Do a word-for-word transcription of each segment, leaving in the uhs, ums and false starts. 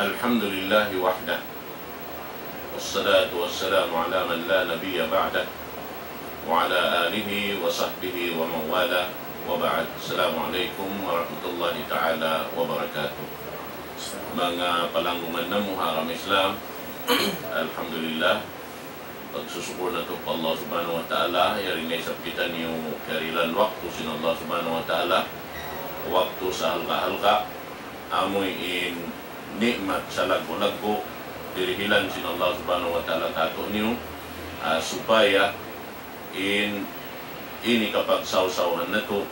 الحمد لله وحده، والصلاة والسلام على من لا نبي بعده، وعلى آله وصحبه ومن والاه، وبعد. السلام عليكم ورحمة الله تعالى وبركاته. Manga palanggungan namu' ha agama Islam, alhamdulillah, pagsusukur natu' pa Allah Subhanahu wa Ta'ala, yari na isab kitaniyu karihilan waktu sin Allah Subhanahu wa Ta'ala, waktu sahalga'-halga', amu in ni'mat salaggu'-laggu', dirihilan sin Allah Subhanahu wa Ta'ala kātu'niyu, ah, supaya in ini kapagsawsawan natu',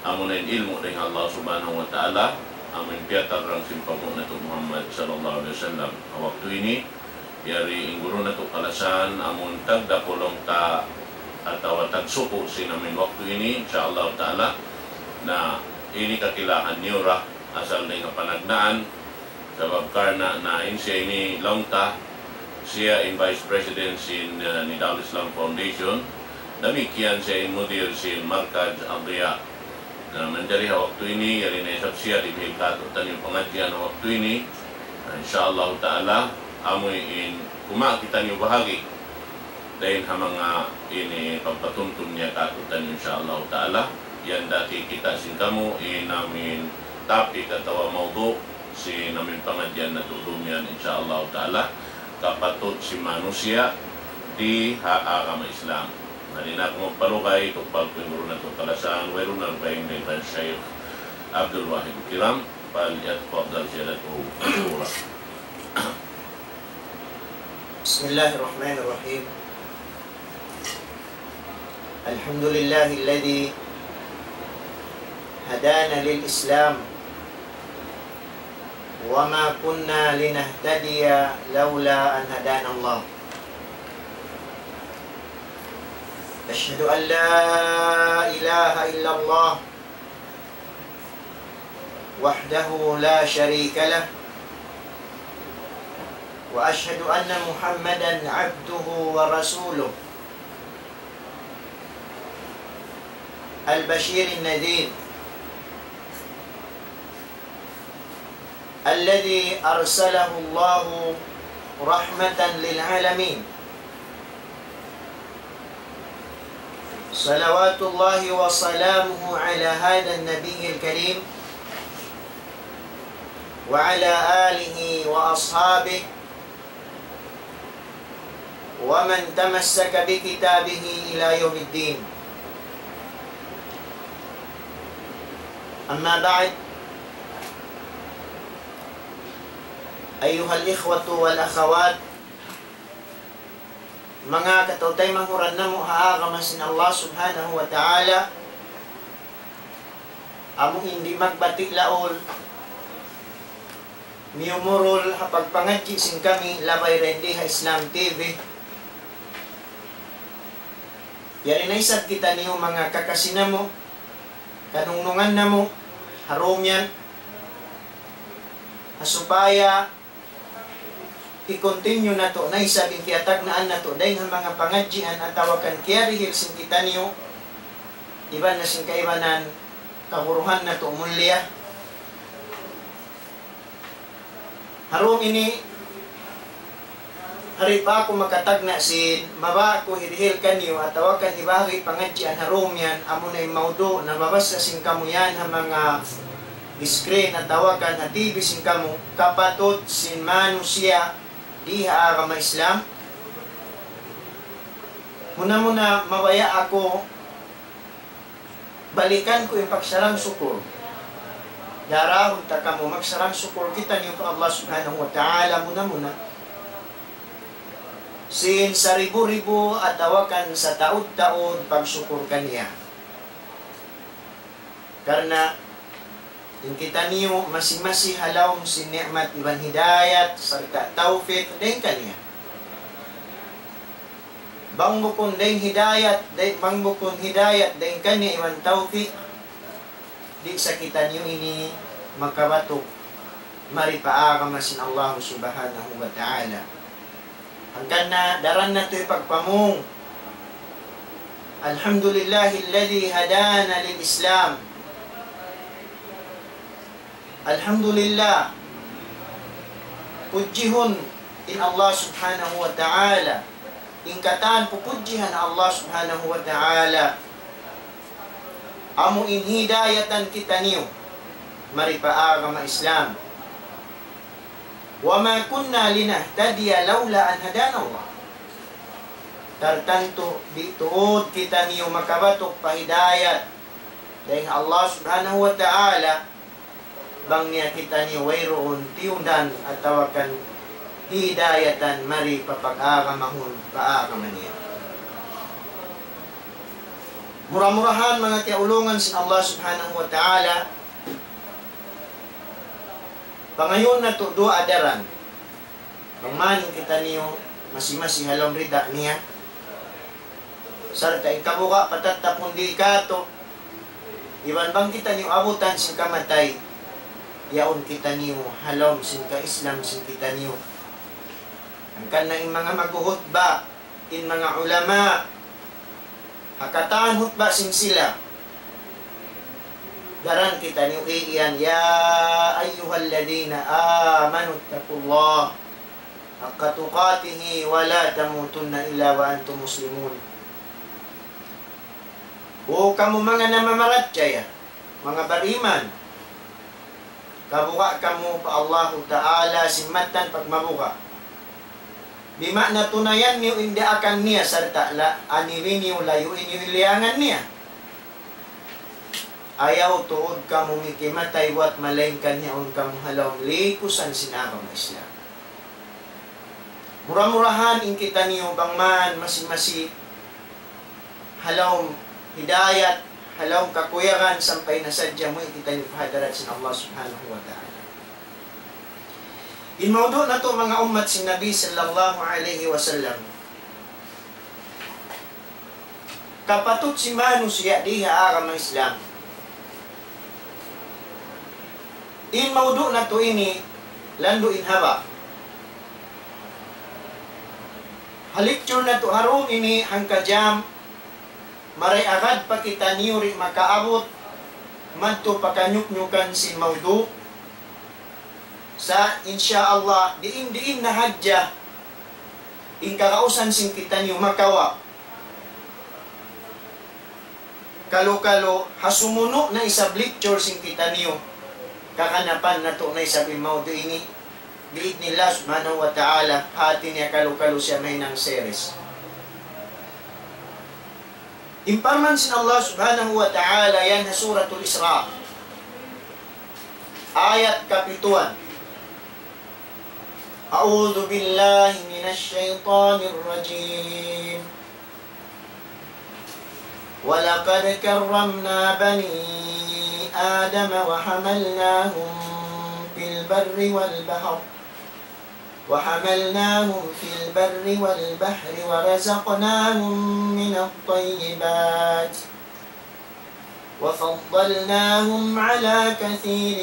amuna in ilmu' dayn ha Allah Subhanahu wa Ta'ala, amu in piyatarrang sin panghu' natu' Muhammad sallallahu alayhi wasallam. Ha waktu ini, yari in guru natu' kalasahan, amun tagdakulung ta atawa tagsuku' sin amu in waktu ini, insya Allah Ta'ala, na ini kakilahan niyu ra, asal dayn ha panagnaan, sabab karna' na in siya ini laung ta, siya in Vice President sin, uh, Nidal Islam Foundation, damikkiyan siya in mudir sin Markaz Adhiya. Na manjari ha waktu ini, yari na isab siya dihil kātu'niyu pangadjian ha waktu ini. Na, insya Allah Ta'ala, amu in kumawa' kitaniyu bahagi' dayn ha manga ini pagpatumtum niya kātu'niyu, insya Allah Ta'ala. Yan da kikita' sin kamu in amu in topic atawa mawdu' sin amu in pangadjian natu' dumiyan, insya Allah Ta'ala, kapatut sin manusiya' di ha agama Islam. Di' na aku magpalugay, tukbal ku in guru natu' kalasahan, wayruun na baying dayn kan Shaykh Abdul Wahid Kiram, فليتفضل سيادته مشكورا. بسم الله الرحمن الرحيم. الحمد لله الذي هدانا للإسلام وما كنا لنهتدي لولا أن هدانا الله. أشهد أن لا إله إلا الله وحده لا شريك له، وأشهد أن محمدا عبده ورسوله، البشير النذير، الذي أرسله الله رحمة للعالمين. صلوات الله وسلامه على هذا النبي الكريم وعلى آله وأصحابه ومن تمسك بكتابه إلى يوم الدين. أما بعد، أيها الإخوة والأخوات, manga kataw-taymanghuran namu' ha agama sin Allah Subhanahu wa Ta'ala, amu in di' magbati' laul, miyumurul ha pagpangadji' sin kami labay dayn di ha Islam T V. Yari na isab kitaniyu manga kakasi namu', kanungnungan namu', ha dum yan, ha supaya i-continue natu' na isab in kiyatagnaan natu' dayn ha manga pangadjian atawa kan kiyarihil sin kitaniyu, iban na sin kaibanan kaguruhan natu' mulia. Ha dum ini, di' pa aku makatagna' sin mabaya' ku hirihil kaniyu atawa kan hibahagi' pangadjian ha dum yan, amuna in mawdu' na mabasa sin kamu yan ha manga screen atawa kan ha T V sin kamu, kapatut sin manusiya' di ha agama Islam. Muna-muna mabaya' aku balikan ku in pagsarang-sukul. Darahun ta kamu magsarang-sukul kitaniyu pa Allah Subhanahu wa Ta'ala muna-muna. Sin saribu-ribu atawa kan sataud-taud pagsukul kaniya. Karna' in kitaniyu masi-masi ha lawm sin ni'mat iban hidayat sarta' tawfik dayn kaniya. Bang bukun dayn hidayat, day-, bang bukun hidayat dayn kaniya iban tawfik, di' sa kitaniyu ini makabatuk mari pa agama sin Allah Subhanahu wa Ta'ala. Hangkan na daran natu' hipagpamung. الحمد لله الذي هدانا للإسلام. Alhamdulillah. Pudjihun in Allah Subhanahu wa Ta'ala. In katan pupudjihan Allah Subhanahu wa Ta'ala, amu in hidayatan kitaniyu mari pa agama Islam. وما كنا لنهتدي لولا أن هدانا الله. Tartantu di' tuud kitaniyu makabatuk pa hidayat dayn ha Allah Subhanahu wa Ta'ala bang niya kitaniyu wayruun tiyundan atawa kan hidayatan mari pa pag-agamahun pa agama niya. Mura-murahan manga kiyaulungan sin Allah Subhanahu wa Ta'ala, pangayuun natu' duwaa daran. Bang man kitaniyu masi-masi ha lawm rida niya, sarta' in kabuga' patattapun di' katu', iban bang kitaniyu abutan sin kamatay, yaun kitaniyu ha lawm sin ka-Islam sin kitaniyu. Hangkan na in manga maghuhutba, in manga ulama, ha katan hutba sin sila, daran kitaniyu iyan, يا أيها الذين آمنوا اتقوا الله حق تقاته ولا تموتن إلا وأنتم مسلمون. O kamu manga namamarachaya, manga bariman, kabuga' kamu pa Allahu Ta'ala sin mattan pagmabuga'. Bima'na tunayan niyu in daakan niya sarta' la aniwi niyu layui niyu in liyangan niya. Ayaw tuud kamu mikimatay buwat malaingkan yaun kamu ha lawm likusan sin agama Islam. Mura-murahan in kitaniyu bang man masi-masi ha lawm hidayat, ha lawm kakuyagan sampay na sadja muwi' kitaniyu pa hadarat sin Allah Subhanahu wa Ta'ala. In mawdu' natu' manga ummat sin Nabi sallallahu alayhi wasallam, kapatut sin manusiya' di ha agama Islam. In mawdu' natu' ini landu' in haba'. Ha lecture natu' ha dum ini hangka jam, maray agad pa kitaniyu di' makaabut madtu pa kanyuknyukan sin mawdu'. Sa' insya Allah, diin-diin na hadja in kagausan sin kitaniyu makawa'. Kalu-kalu, ha sumunu' na isab lecture sin kitaniyu, kakanapan natu' na isab in mawdu' ini, bi'idhnillah subhanahu wa ta'ala, hati niya kalu-kalu siya mahinang series. In parman sin Allah subhanahu wa ta'ala yan ha Suratul Isra, ayat kapituan. أعوذ بالله من الشيطان الرجيم. ولقد كرمنا بني آدم وحملناهم في البر والبحر، وحملناهم في البر والبحر ورزقناهم من الطيبات وفضلناهم على كثير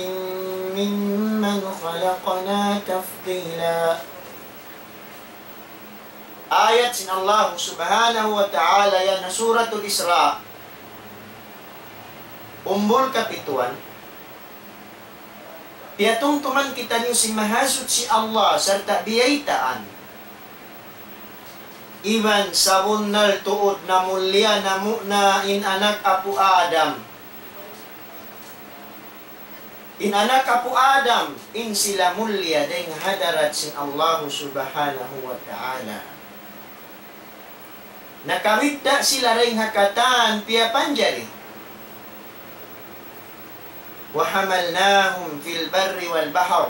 ممن خلقنا تفضيلا. Ayat sin Allah subhanahu wa ta'ala yan ha Suratul Isra, umbul kapituan. Piyatumtuman kitaniyu sin Mahasuchi Allah sarta' biyaytaan iban sabunnal tuud na mulia namu' na in anak apu' Adam. In anak apu' Adam, in sila mulia dayn ha hadarat sin Allahu subhanahu wa ta'ala. Nakabidda' sila dayn ha katan piyapanjari. وحملناهم في البر والبحر.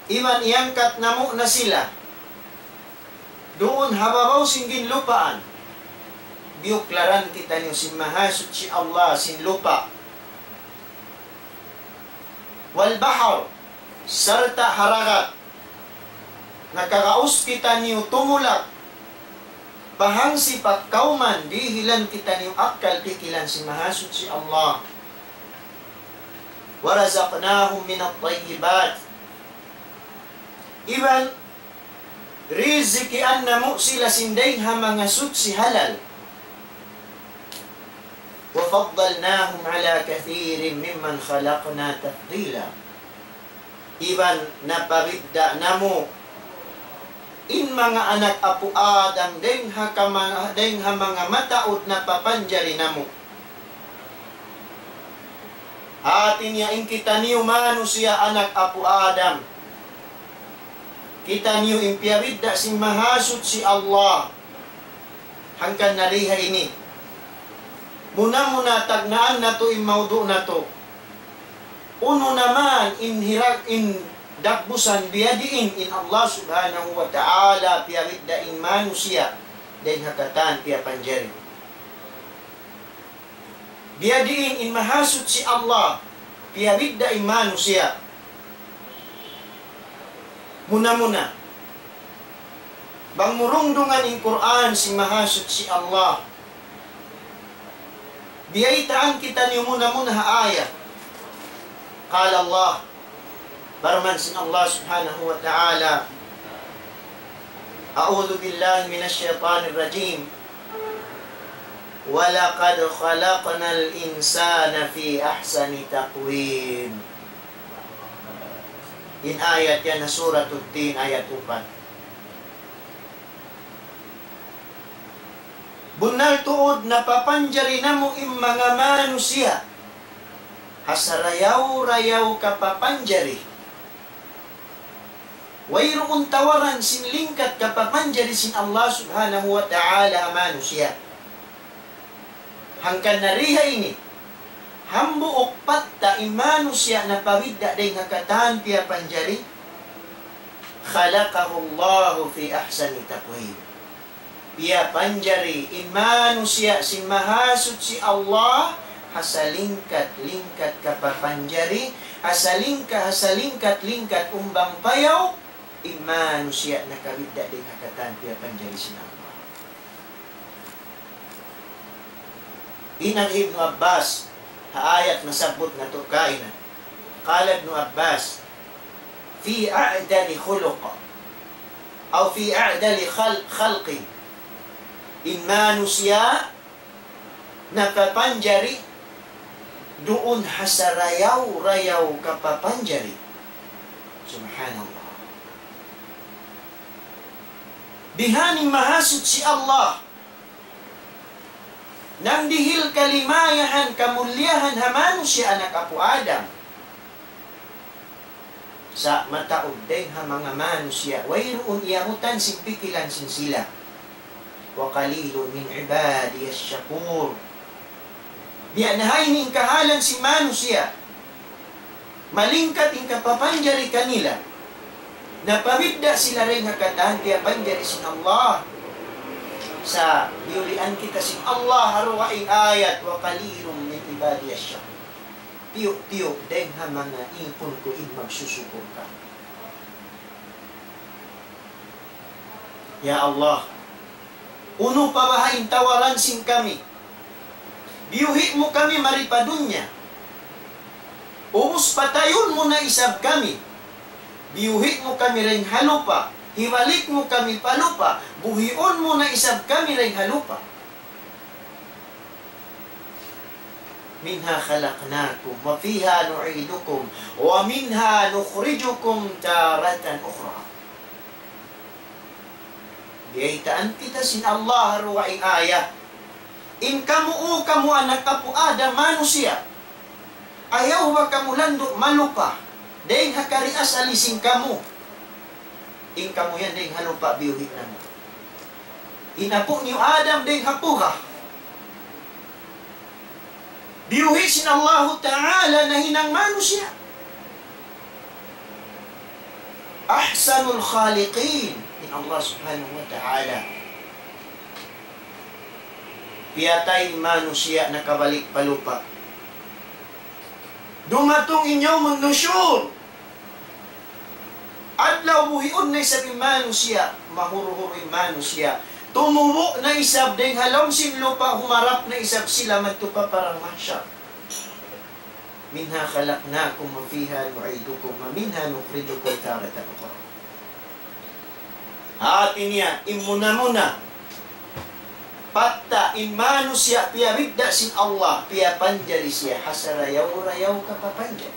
Iban iyangkat namu' na sila duun ha babaw sin ginlupaan. Biyuklaran kitaniyu sin Mahasuchi Allah sin lupa'. والبحر, sarta' ha dagat. Nakagaus kitaniyu tumulak pa hangsi pagkauman, dihilan kitaniyu akkal pikilan sin Mahasuchi Allah. ورزقناهم من الطيبات. Iban rizikian namu' sila sin dayn ha manga suchi halal. وفضلناهم على كثير ممن خلقنا تفضيلا. Iban napabidda' namu' in manga anak apu' Adam dayng ha kama-, dayng ha manga mataud napapanjari namu'. Hati niya in kitaniyu manusiya' anak apu' Adam, kitaniyu in piyabidda' sin Mahasuchi Allah. Hangkan na di ha ini. Muna-muna tagnaan natu' in maudu' natu'. Unu na man in hirag in dagbusan biyadiin in Allah Subhanahu wa Ta'ala piyabidda' in manusiya' dayng ha katan piyapanjari. Biyadiin in Mahasuchi Allah piyabidda' in manusiya'. Muna-muna, bang mu rungdungan in Qur'an sin Mahasuchi Allah, biyaytaan kitaniyu muna-muna ha ayat. قال الله, parman sin Allah Subhanahu wa Ta'ala, أعوذ بالله من الشيطان الرجيم. ولقد خلقنا الإنسان في أحسن تقويم. In ayat yan ha Suratul Tin, ayat upat. Bunnal tuud napapanjari namu' in manga manusiya' ha sarayaw-rayaw kapapanjari. Wayruun tawaran sin lingkat kapapanjari sin Allah Subhanahu wa Ta'ala ha manusiya'. Hangkan na di ha ini, hambuuk patta' in manusiya' napabidda' dayng ha katan piyapanjari, خلقه الله في أحسن تقويم. Piyapanjari in manusiya' sin Mahasuchi Allah ha salingkat-lingkat kapapanjari, ha salingka-, ha salingkat-lingkat umbang payaw, in manusiya' nakabidda' dayng ha katan piyapanjari sin Allah. In Ibnu Abbas, ha ayat nasabbut natu' kaina. قال ابن عباس: في أعدل خلق، أو في أعدل خل-، خلق. In manusiya' napapanjari duun ha sarayaw-rayaw kapapanjari. Subhanallah. Bihan in Mahasuchi Allah nangdihil kalimayahan, kamulliyahan ha manusiya' anak apu' Adam. Sa' mataud dayng ha manga manusiya', wayruun iyabutan sin pikilan sin sila. وقليل من عبادي الشكور. Biya' na ha ini in kahalan sin manusiya'. Malingkat in kapapanjari kanila. Napabidda' sila dayng ha katan piyapanjari sin Allah. Sa' biyulian kita sin Allah ha dugaing ayat, وقليل من عبادي الشكور. Tiyu'-tiyu' dayng ha manga īpun ku in magsusukur kami. Ya Allah, unu pa baha' in tawaran sin kami? Biyuhi' mu kami mari pa dunya. Ubus patayun mu na isab kami. Biyuhi' mu kami dayng ha lupa'. Hibalik mu kami pa lupa'. Buhiun mu na isab kami dayng ha lupa'. منها خلقناكم وفيها نعيدكم ومنها نخرجكم تارة أخرى. Biyaytaan kita sin Allah ha dugaing ayat. In kamu, O kamu anak apu' Adam manusiya', ayaw ba kamu landu' malupa dayng ha kari asali sin kamu. In kamu yan dayng ha lupa' biyuhi' namu'. In apu' niyu Adam dayng ha puga. Biyuhi' sin Allahu Ta'ala nahinang manusiya'. أحسن الخالقين in Allah Subhanahu wa Ta'ala. Piyatay in manusiya' nakabalik pa lupa'. Dumatung in يوم النشور. Adlaw buhiun na isab in manusiya', mahuru-huru in manusiya'. Tumubu' na isab dayng ha lawm sin lupa', humarap na isab sila madtu pa padang mahsar. منها خلقناكم وفيها نعيدكم ومنها نخرجكم تارة أخرى. Hati niya, in muna-muna, patta' in manusiya' piyabidda' sin Allah, piyapanjari siya ha sarayaw-rayaw kapapanjari.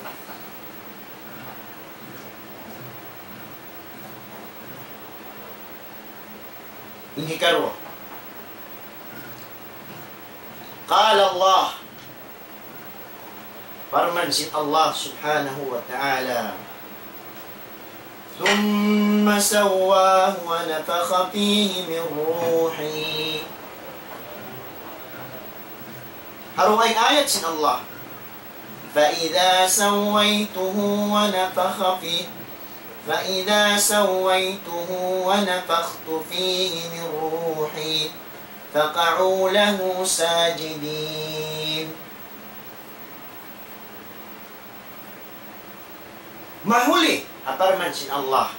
Hikaruwa. قال الله. Parman sin Allah Subhanahu wa Ta'ala, ثم سواه ونفخ فيه من روحه. Ha dugaing ayat sin Allah, فإذا سويته ونفخ فيه، فإذا سويته ونفخت فيه من روحي فقعوا له ساجدين. Mahuli, ha parman sin Allah.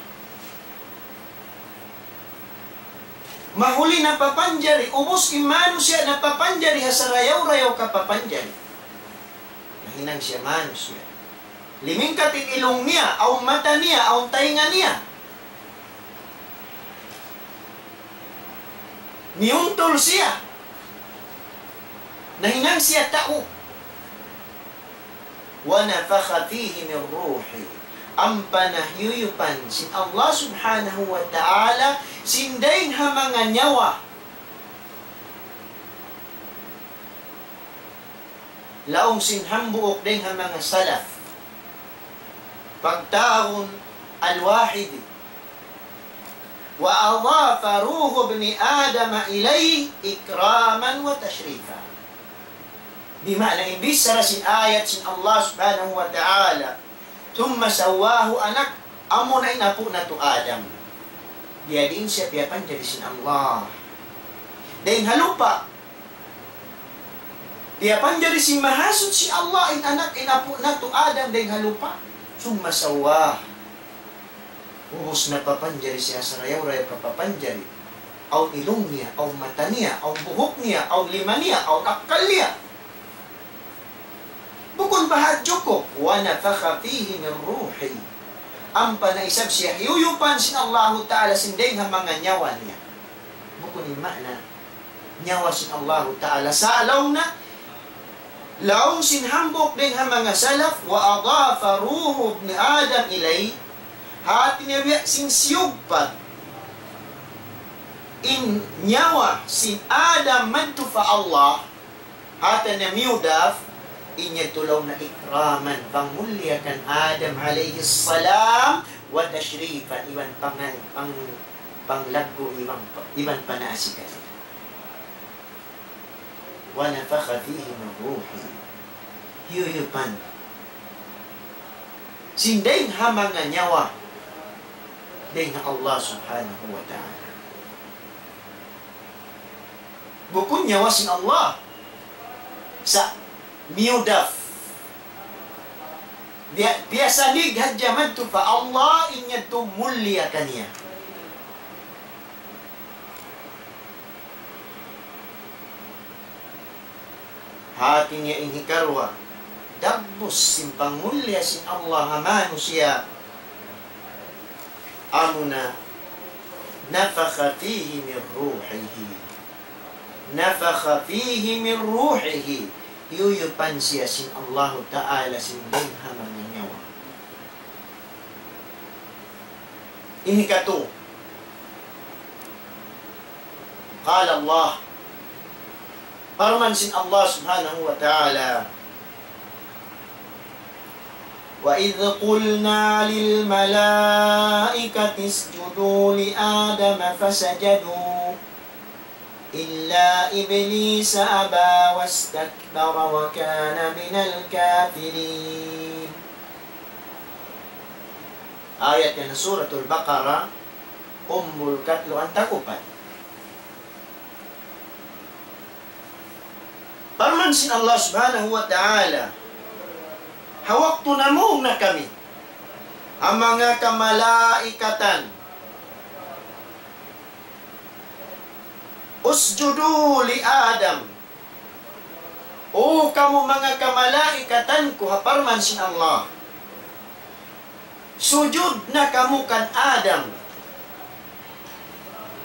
Mahuli napapanjari, ubus in manusiya' napapanjari ha sarayaw-rayaw kapapanjari. Nahinang siya manusiya'. Limingkat in ilung niya, awn mata niya, awn taynga niya. Miyuntul siya. Nahinang siya tau. ونفخ فيه من روحه. Ampa na hiyuyupan sin Allah Subhanahu wa Ta'ala sin dayng ha manga nyawa. Laung sin hambuuk dayng ha manga salaf, pagtawagun Al-Wahidi, وأضاف روح ابن آدم إليه إكراما وتشريفا. Di' maana in bichara sin ayat sin Allah Subhanahu wa Ta'ala, ثم سواه, anak, amuna in apu' natu' Adam. Biyadiin siya piyapanjari sin Allah dayng ha lupa'. Piyapanjari sin Mahasuchi Allah in anak, in apu' natu' Adam dayng ha lupa'. ثم سواه. Ubus napapanjari siya sarayaw-rayaw kapapanjari. Awn ilung niya, awn mata niya, awn buhuk niya, awn lima niya, awn akkal niya. Bukun baha' jukup, ونفخ فيه من روحه. Ampa na isab siya hiyuyupan sin Allahu Ta'ala sin dayng ha manga nyawa niya. Bukun in maana nyawa sin Allahu Ta'ala. Sa' laung na, laung sin hambuuk dayng ha manga salaf, وأضاف روح ابن آدم إليه. Hati niya biya' sin siyugpat in nyawa sin Adam madtu pa Allah, hati niya miyudaf, in yadtu laung na إكراما, pangmulliya kan Adam alayhi salam, وتشريفا, iban pang-, pang-, panglaggu', iban, iban panaasi kaniya. ونفخ فيه من روحه. Hiyuyupan sin dayng ha manga nyawa dayng ha Allah Subhanahu wa Ta'ala. Bukun nyawa sin Allah. Sa' miyudaf. Biya', biya' sanig hadja madtu pa Allah, in yadtu mulliya kaniya. Hati niya in hikaruwa, dagbus sin pangmulliya sin Allah ha manusiya', amuna نفخ فيه من روحه. نفخ فيه من روحه. Hiyuyupan siya sin Allahu Ta'ala sin dayng ha manga nyawa. In hikatu. قال الله. Parman sin Allah Subhanahu wa Ta'ala, وإذ قلنا للملائكة اسجدوا لآدم فسجدوا إلا إبليس أبى واستكبر وكان من الكافرين. Ayat yan ha Suratul Baqarah, umbul katlu' antakupat. Parman sin Allah Subhanahu wa Ta'ala, ha waktu namung na kami ha manga kamalaikatan, اسجدوا لآدم. O kamu manga kamalaikatan ku, ha parman sin Allah, sujud na kamu kan Adam.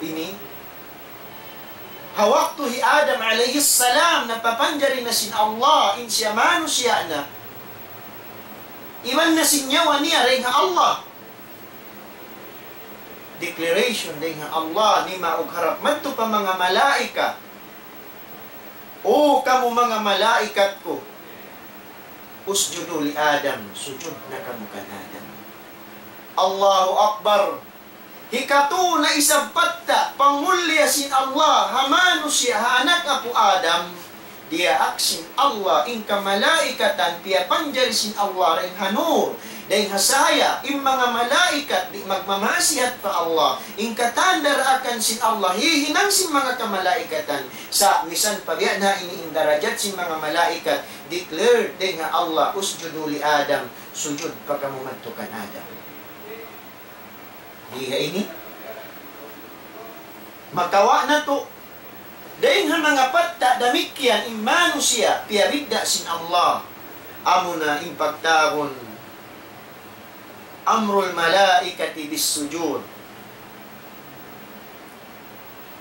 Ini, ha waktu hi Adam alayhi salam napapanjari na sin Allah, in siya manusiya' na, iban na sin nyawa niya dayn ha Allah. Declaration dayn ha Allah nimaug harap madtu pa manga malaikat. O kamu manga malaikat ku, اسجدوا لآدم, sujud na kamu kan Adam. Allahu Akbar. Hikatu na isab patta' pangmulliya sin Allah ha manusiya', ha anak apu' Adam, diyaak sin Allah in kamalaikatan piyapanjari sin Allah dayn ha nur, dayn ha sahaya, in manga malaikat di' magmamaasiyat pa Allah, in katan daraakan sin Allah, hihinang sin manga kamalaikatan, sa' misan pa biya' na ini in darajat sin manga malaikat, declared dayn ha Allah, اسجدوا لآدم, sujud pa kamu madtu kan Adam. Di ha ini, makawa' natu', dayn ha manga patta' damikkiyan in manusiya' piyabidda' sin Allah. Amuna in pagtawagun أمر الملائكة بالسجود،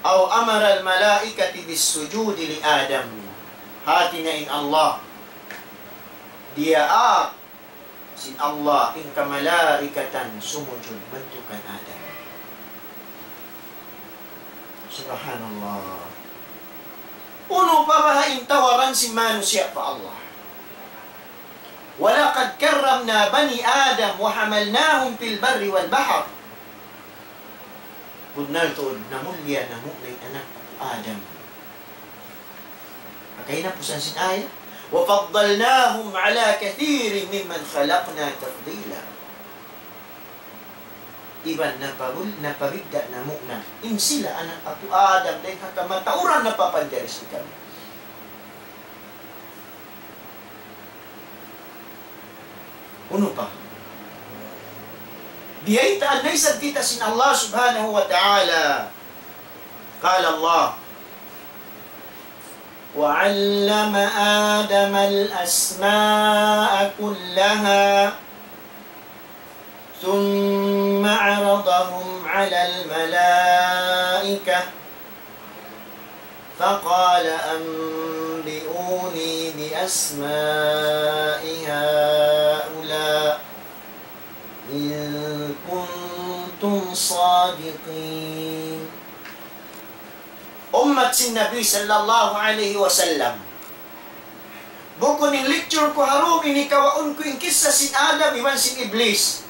أو أمر الملائكة بالسجود لآدم. Hati niya in Allah diyaak sin Allah in kamalaikatan sumujud madtu kan Adam. Subhanallah. Unu pa baha' in tawaran sin manusiya' pa Allah. ولقد كرمنا بني آدم وحملناهم في البر والبحر. Bunnal tuud, namulliya namu' na in anak Adam. Hangkan hinapusan sin ayat, وفضلناهم على كثير ممن خلقنا تفضيلا. Iban napabul-, napabidda' namu' na in sila anak apu' Adam dayn ha kamatauran napapanjari sin kami. Unu pa? Biyaytaan na isab kita sin Allah Subhanahu wa Ta'ala. قال الله: وعلم آدم الأسماء كلها ثم عرضهم على الملائكة فقال أنبئوني بأسماء هؤلاء إن كنتم صادقين. Ummat sin Nabi sallallahu alayhi wasallam. Bukun in lecture ku ha dum ini kawaun ku in kissa sin Adam iban sin Iblis.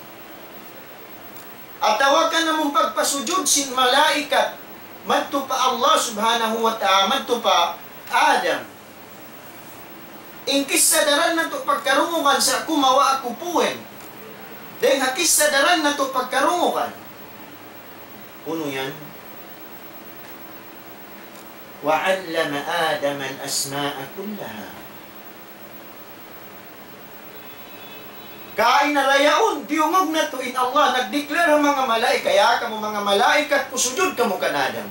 Atawa kan amun pagpasujud sin malaikat madtu pa Allah Subhanahu wa Ta'ala, madtu pa Adam. In kissa daran natu' pagkarungugan sa' kumawa' aku puin. Dayn ha kissa daran natu' pagkarungugan. Unu yan? وعلم آدم الأسماء كلها. Kaina ra yaun, diyungug natu' in Allah, nag-declare ha manga malaikat, "Ya kamu manga malaikat ku, sujud kamu kan Adam."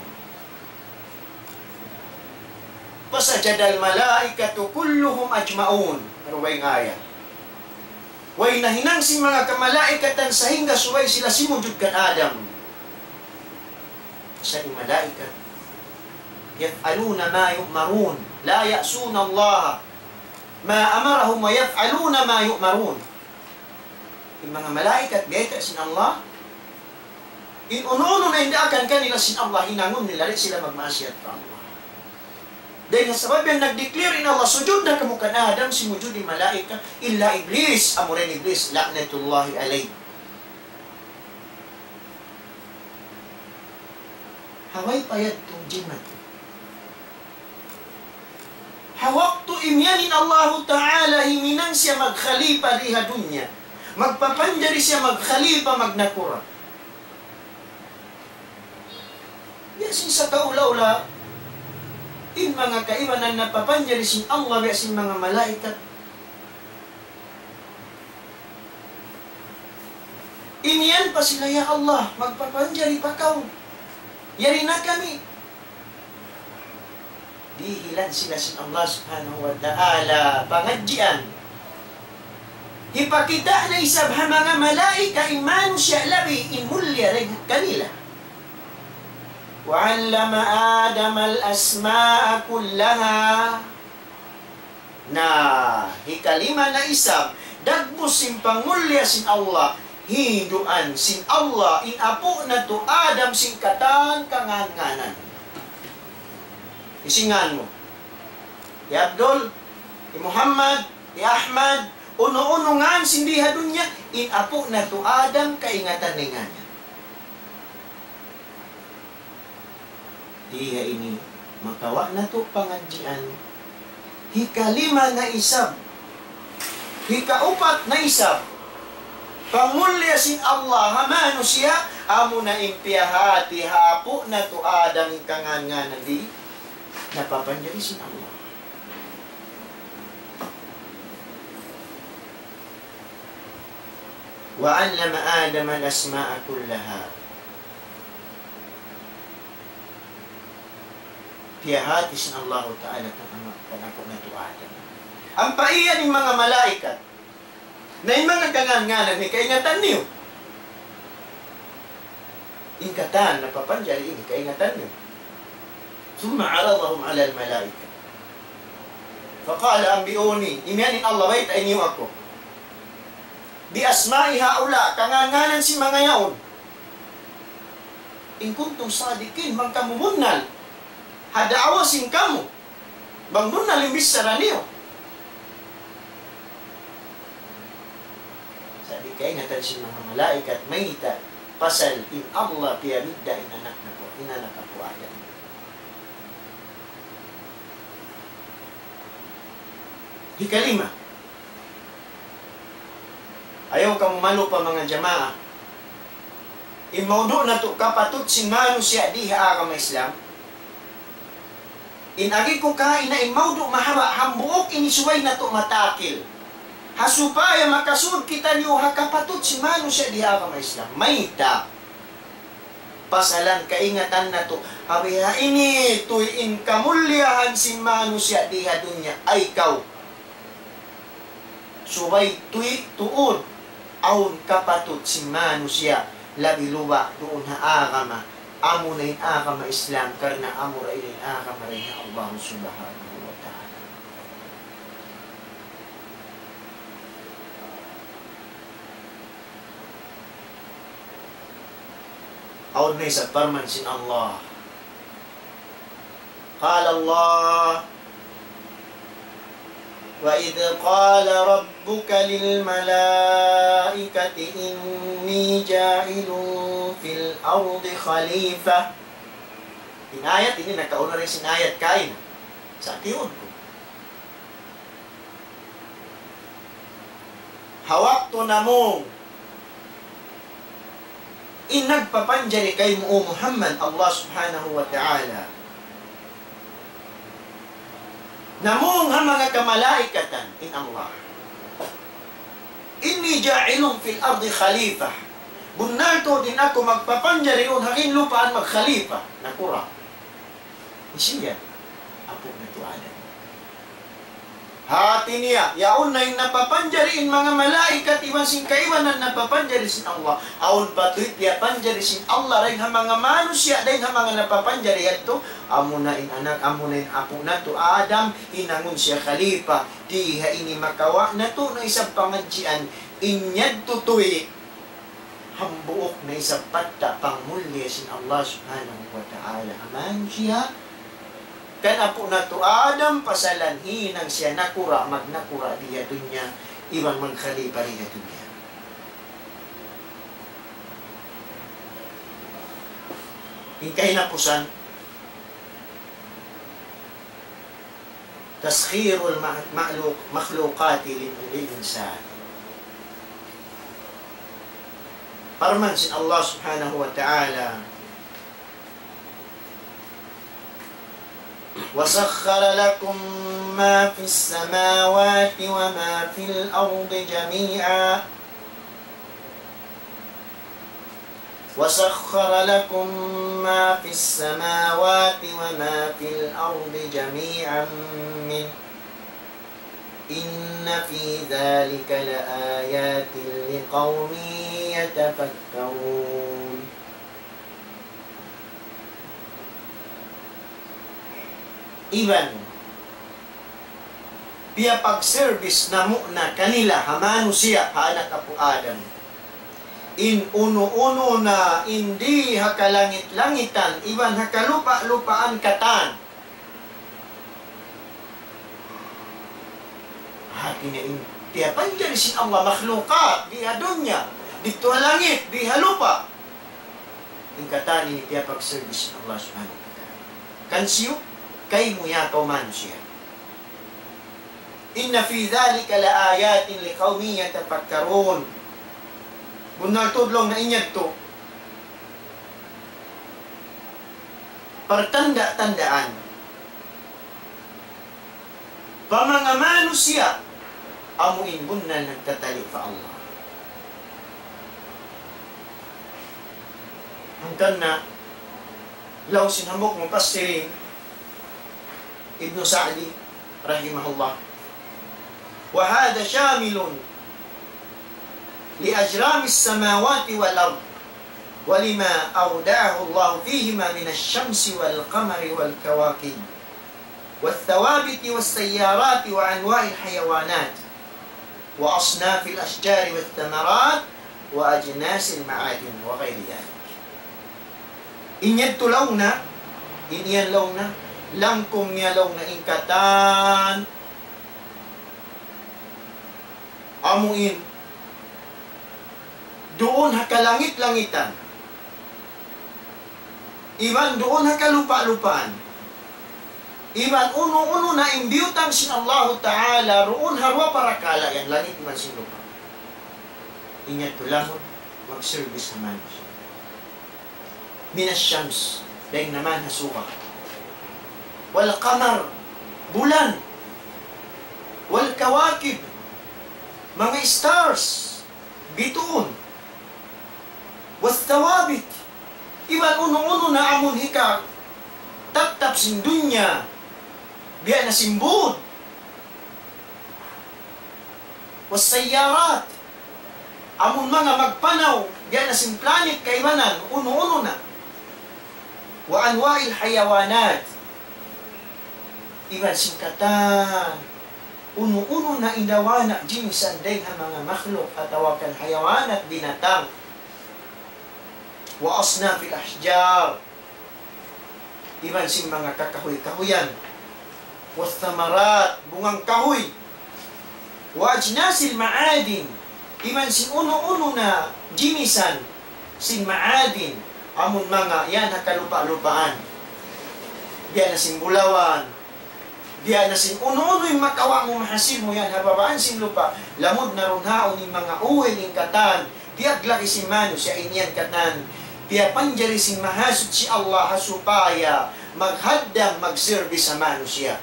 فسجد الملائكة كلهم أجمعون. Aru ba in ayat? Way nahinang sin manga kamalaikatan sahingga subay sila simujud kan Adam. Sa' in malaikat, يفعلون ما يؤمرون، لا يعصون الله ما أمرهم ويفعلون ما يؤمرون. In manga malaikat, biyayta' sin Allah, in unu-unu na in daakan kanila sin Allah, hinangun nila, di' sila magmaasiyat pa Allah. Dayn ha sabab yan nag-declare in Allah, "Sujud na kamu kan Adam," simujud in malaikat, illa Iblis, amura in Iblis, لعنة الله عليه. Ha way pa yadtu jimatu. Ha waktu imiyan in Allahu Ta'ala, himinang siya magkhalifa di ha dunya. Magpapanjari siya magkhalifa, magnakura'. Biya' sin sakaula-ula, in manga kaibanan napapanjari sin Allah, biya' sin manga malaikat. Imiyan pa sila, "Ya Allah, magpapanjari pa kaw. Yari na kami." Dihilan sila sin Allah Subhanahu wa Ta'ala pangadjian. Hipakita' na isab ha manga malaikat in manusiya' labi in mulliya dayn kanila. وعلم آدم الأسماء كلها. Na, hikalima na isab, dagbus sin pangmulliya sin Allah, hinduan sin Allah in apu' natu' Adam sin katan kangān-ngānan. Hisiyu in ngān mu? Hi Abdul, hi Muhammad, hi Ahmad, unu-unu ngān sin di ha dunya, in apu' natu' Adam kaingatan niya in ngān niya. Di ha ini makawa' natu' pangadjian. Hikalima na isab. Hikaupat na isab. Pangulliya sin Allah ha manusiya', amuna in piyahāti ha apu' natu' Adam in kangān-ngānan di' napapanjari sin Allah. وعلم آدم الأسماء كلها. Piyahāti sin Allahu Ta'ala kan ama-, kan apu' natu' Adam. Ampa iyan in manga malaikat. Na in manga kangān-ngānan ini kaingatan niyu. In katan napapanjari ini kaingatan niyu. ثم عرضهم على الملائكة. فقال أنبئوني. Imiyan in Allah, baytai niyu aku. بأسماء هؤلاء, kangān-ngānan sin manga yaun. إن كنتم صادقين, bang kamu bunnal ha da'wa sin kamu, bang bunnal in bichara niyu. Sa' di' kaingatan sin manga malaikat, mayta', pasal in Allah piyabidda' in anak natu', in anak apu' Adam. Hikalima. Ayaw kamu malupa manga jamaa. In maudu' natu' kapatut sin manusiya' di ha agama Islam. In agi ku kaina in maudu' mahaba' hambuuk ini subay natu' matakil. Ha supaya makasud kitaniyu ha kapatut sin manusiya' di ha agama Islam. Mayta'? Pasalan kaingatan natu'. Ha biha ini tuy in kamulliyahan sin manusiya' di ha dunya. Ay kaw. Subay tuy tuud awn kapatut sin manusiya' labi luba' duun ha agama, amuna in agama Islam, karna' amura in agama dayn ha Allah Subhanahu wa Ta'ala. Awn na isab parman sin Allah. قال الله: وإذ قال ربك للملائكة إني جاعل في الأرض خليفة. In ayat ini nakauna dayn sin ayat kaina. Sa' tiyuud ku. Ha waktu namung in nagpapanjari kaymu, O Muhammad, Allah Subhanahu wa Ta'ala. Namung ha manga kamalaikatan in Allah. إني جاعل في الأرض خليفة. Bunnal tuud in aku magpapanjari duun ha ginlupaan magkhalifa. Nakura'. Hisiyu yan? Apu' natu' Adam. Hati niya, yaun na in napapanjari in manga malaikat iban sin kaibanan napapanjari sin Allah. Awn pa tuud piyapanjari sin Allah dayn ha manga manusiya', dayn ha manga napapanjari yadtu. Amuna in anak, amuna in apu' natu' Adam, hinangun siya khalifa. Di ha ini makawa' natu' na isab pangadjian, in yadtu tuud hambuuk na isab patta' pangmulliya sin Allah Subhanahu wa Ta'ala ha manusiya'. Kan apu' natu' Adam, pasalan hinang siya nakura', magnakura' di ha dunya, iban magkhalifa di ha dunya. In kahinapusan, تسخير المخلوق-، المخلوقات لل-، للإنسان. Parman sin Allah Subhanahu wa Ta'ala, وسخر لكم ما في السماوات وما في الأرض جميعا وسخر لكم ما في السماوات وما في الأرض جميعا منه إن في ذلك لآيات لقوم يتفكرون. Iban piyapag-service namu' na kanila ha manusiya', ha anak apu' Adam, In unu-unu na in di ha kalangit-langitan, iban ha kalupa-lupaan katan. Hati niya in piyapanjari sin Allah makhlukat, di ha dunya, didtu ha langit, di ha lupa'. In katan ini piyapag-service sin Allah Subhanahu wa Ta'ala. Kansiyu? Kaymu ya kaw manusiya'. إن في ذلك لآيات لقوم يتفكرون. Bunnal tuud laung niya in yadtu. Partanda-tandaan pa manga manusiya' amu in bunnal nagtatali' pa Allah. Hangkan na laung sin hambuuk mufassirin, Ibnu Sa'di, rahimahullah. وهذا شامل لأجرام السماوات والأرض ولما أودعه الله فيهما من الشمس والقمر والكواكب والثوابت والسيارات وأنواع الحيوانات وأصناف الأشجار والثمرات وأجناس المعادن وغير ذلك. In yadtu laung niya, in yan laung niya, langkung niya laung niya in katan, amu in duun ha kalangit-langitan, iban duun ha kalupa-lupaan, iban unu-unu na in biyutang sin Allahu Ta'ala duun ha duwa parakala' yan, langit iban sin lupa'. In yadtu laung mag-service ha manusiya'. من الشمس, dayn naman ha suga. والقمر, bulan. والكواكب, manga stars, bituun. والثوابت, iban unu-unu na amun hikatattap sin dunya, biya' na sin būd. والسيارات, amun manga magpanaw, biya' na sin planet kaibanan, unu-unu na. وأنواع الحيوانات, iban sin katan unu-unu na in dawana' jinisan dayn ha manga makhluk atawa kan hayawanat, binatang. وأصناف الأشجار, iban sin manga kakahuy-kahuyan. والثمرات, bungang kahuy. وأجناس المعادن, iban sin unu-unu na jinisan sin ma'adin, amun manga yan ha kalupa-lupaan. Biya' na sin bulawan, biya' na sin unu-unu in makawa' mu, mahasil mu yan ha babaan sin lupa', lamud na duun ha yaun in manga uwil, in katan, biyaglaki sin manusiya' in yan katan, piyapanjari sin Mahasuchi Allah ha supaya maghaddam, mag-service ha manusiya'.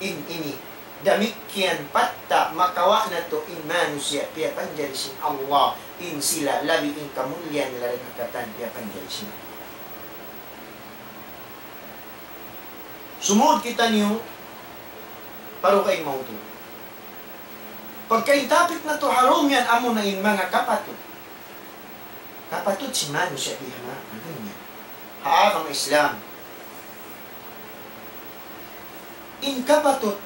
In ini, damikkiyan patta' makawa' natu' in manusiya' piyapanjari sin Allah, in sila labi in kamulliyahan nila dayn ha katan piyapanjari sin Allah. Sumud kitaniyu pa dugaing mawdu'. Pagka in topic natu' ha dum yan amuna in manga kapatut. Kapatut sin manusiya' di ha ma-, ha dunya. Ha agama Islam. In kapatut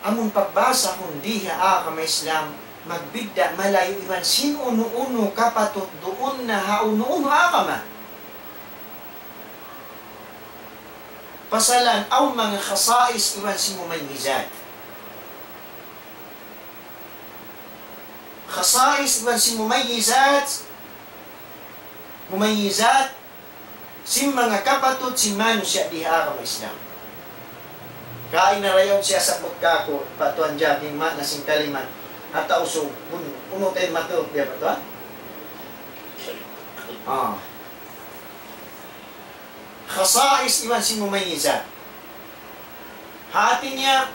amun pagbasahun di ha agama Islam, magbidda' malayu' iban sin unu-unu kapatut duun na ha unu-unu agama. Pasalan awn manga khasais iban sin mumayyizat. Khasais iban sin mumayyizat. Mumayyizat sin manga kapatut sin manusiya' di ha agama Islam. Kaina dayaw siya sabbut kāku', pa Tuan Jack, in maana sin kalimat ha Tausug, bun-, unu in matup niya pa Tuan? Ah. Khasais iban sin mumayyizat. Hati niya,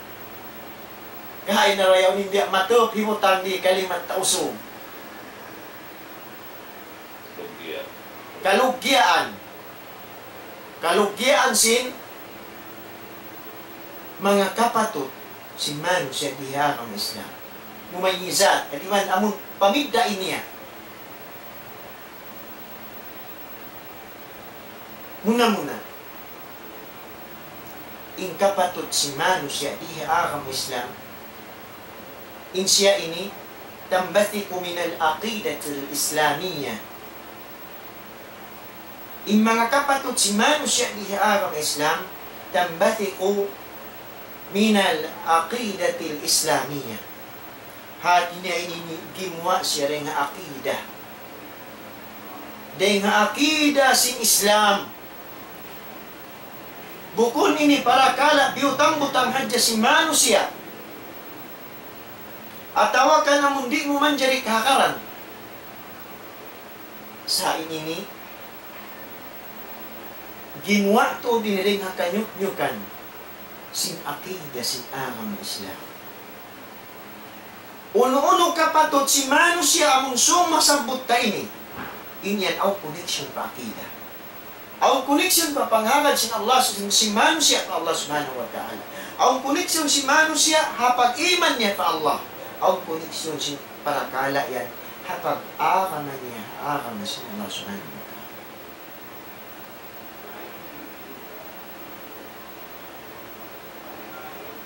kaina dayaw in biya' matup hibutang di kalimat Tausug. Kaluggiyaan. Kaluggiyaan sin manga kapatut sin manusiya' di ha agama Islam. Mumayyizat. Katiman amun pamidda' niya. Muna-muna, in kapatut sin manusiya' di ha agama Islam, in siya ini, تنبثق من العقيدة الإسلامية. In manga kapatut sin manusiya' di ha agama Islam, تنبثق من العقيدة الإسلامية. Hati niya ini gimuwa' siya dayn ha aqidah. Dayn ha aqidah sin Islam. Bukun ini parakala' biyutang-butang hadja sin manusiya'. Atawa kan amun di' mu manjari kahagaran. Sa' in ini, gimuwa' tuud ini dayn ha kanyuknyukan sin aqidah sin agama Islam. Unu-unu kapatut sin manusiya' amun sūng masabbut ta ini, in yan awn connection pa aqidah. Awn connection pa panghagad sin Allah, sin, sin manusiya' pa Allah Subhanahu wa Ta'ala. Awn connection sin manusiya' ha pag-iman niya pa Allah. Awn connection sin parakala' yan ha pag-agama niya, agama sin Allah Subhanahu wa Ta'ala.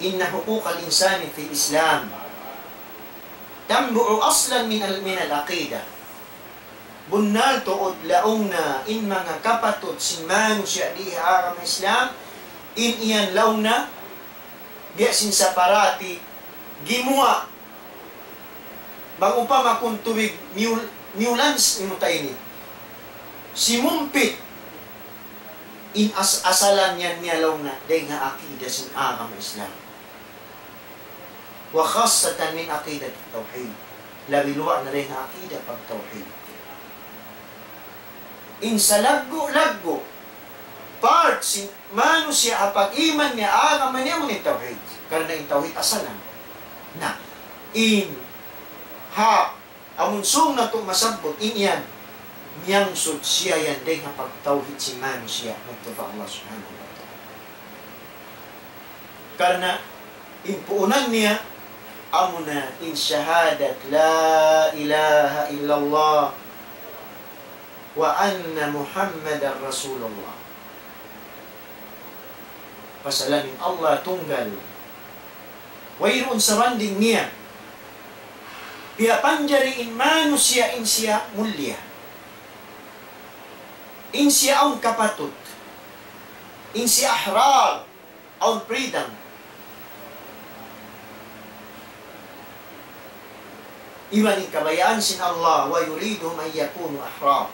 إن حقوق الإنسان في الإسلام تنبع أصلا من ال-، من العقيدة. Bunnal tuud laung niya in manga kapatut sin manusiya' di ha agama Islam, in yan laung niya, biya' sin saparati, gimuwa'. Bang upama kun tubig, miyul-, miyulan s-, imuta ini. Simumpit. In as-, asalan yan niya laung niya, dayn ha aqidah sin agama Islam. وخاصة من عقيدة التوحيد. Labi luwa' na dayn ha aqidah pagtawhid. In salaggu'-laggu' part sin manusiya' ha pag-iman niya, agama niya, amu in tawhid. Karna' in tawhid asalan. Na, in ha, amun sūng natu' masabbut, in yan, miyangsud siya yan dayn ha pagtawhid sin manusiya' madtu pa Allah Subhanahu wa Ta'ala. Karna' in puunan niya, amuna in shahadat لا إله إلا الله وأن محمدا رسول الله. Pasalan in Allah tunggal. Wayruun sabanding niya. Piyapanjari in manusiya' in siya mulia. In siya awn kapatut. In siya ahrar. Awn freedom. Iban in kabayaan sin Allah, ويريدهم أن يكونوا أحرار.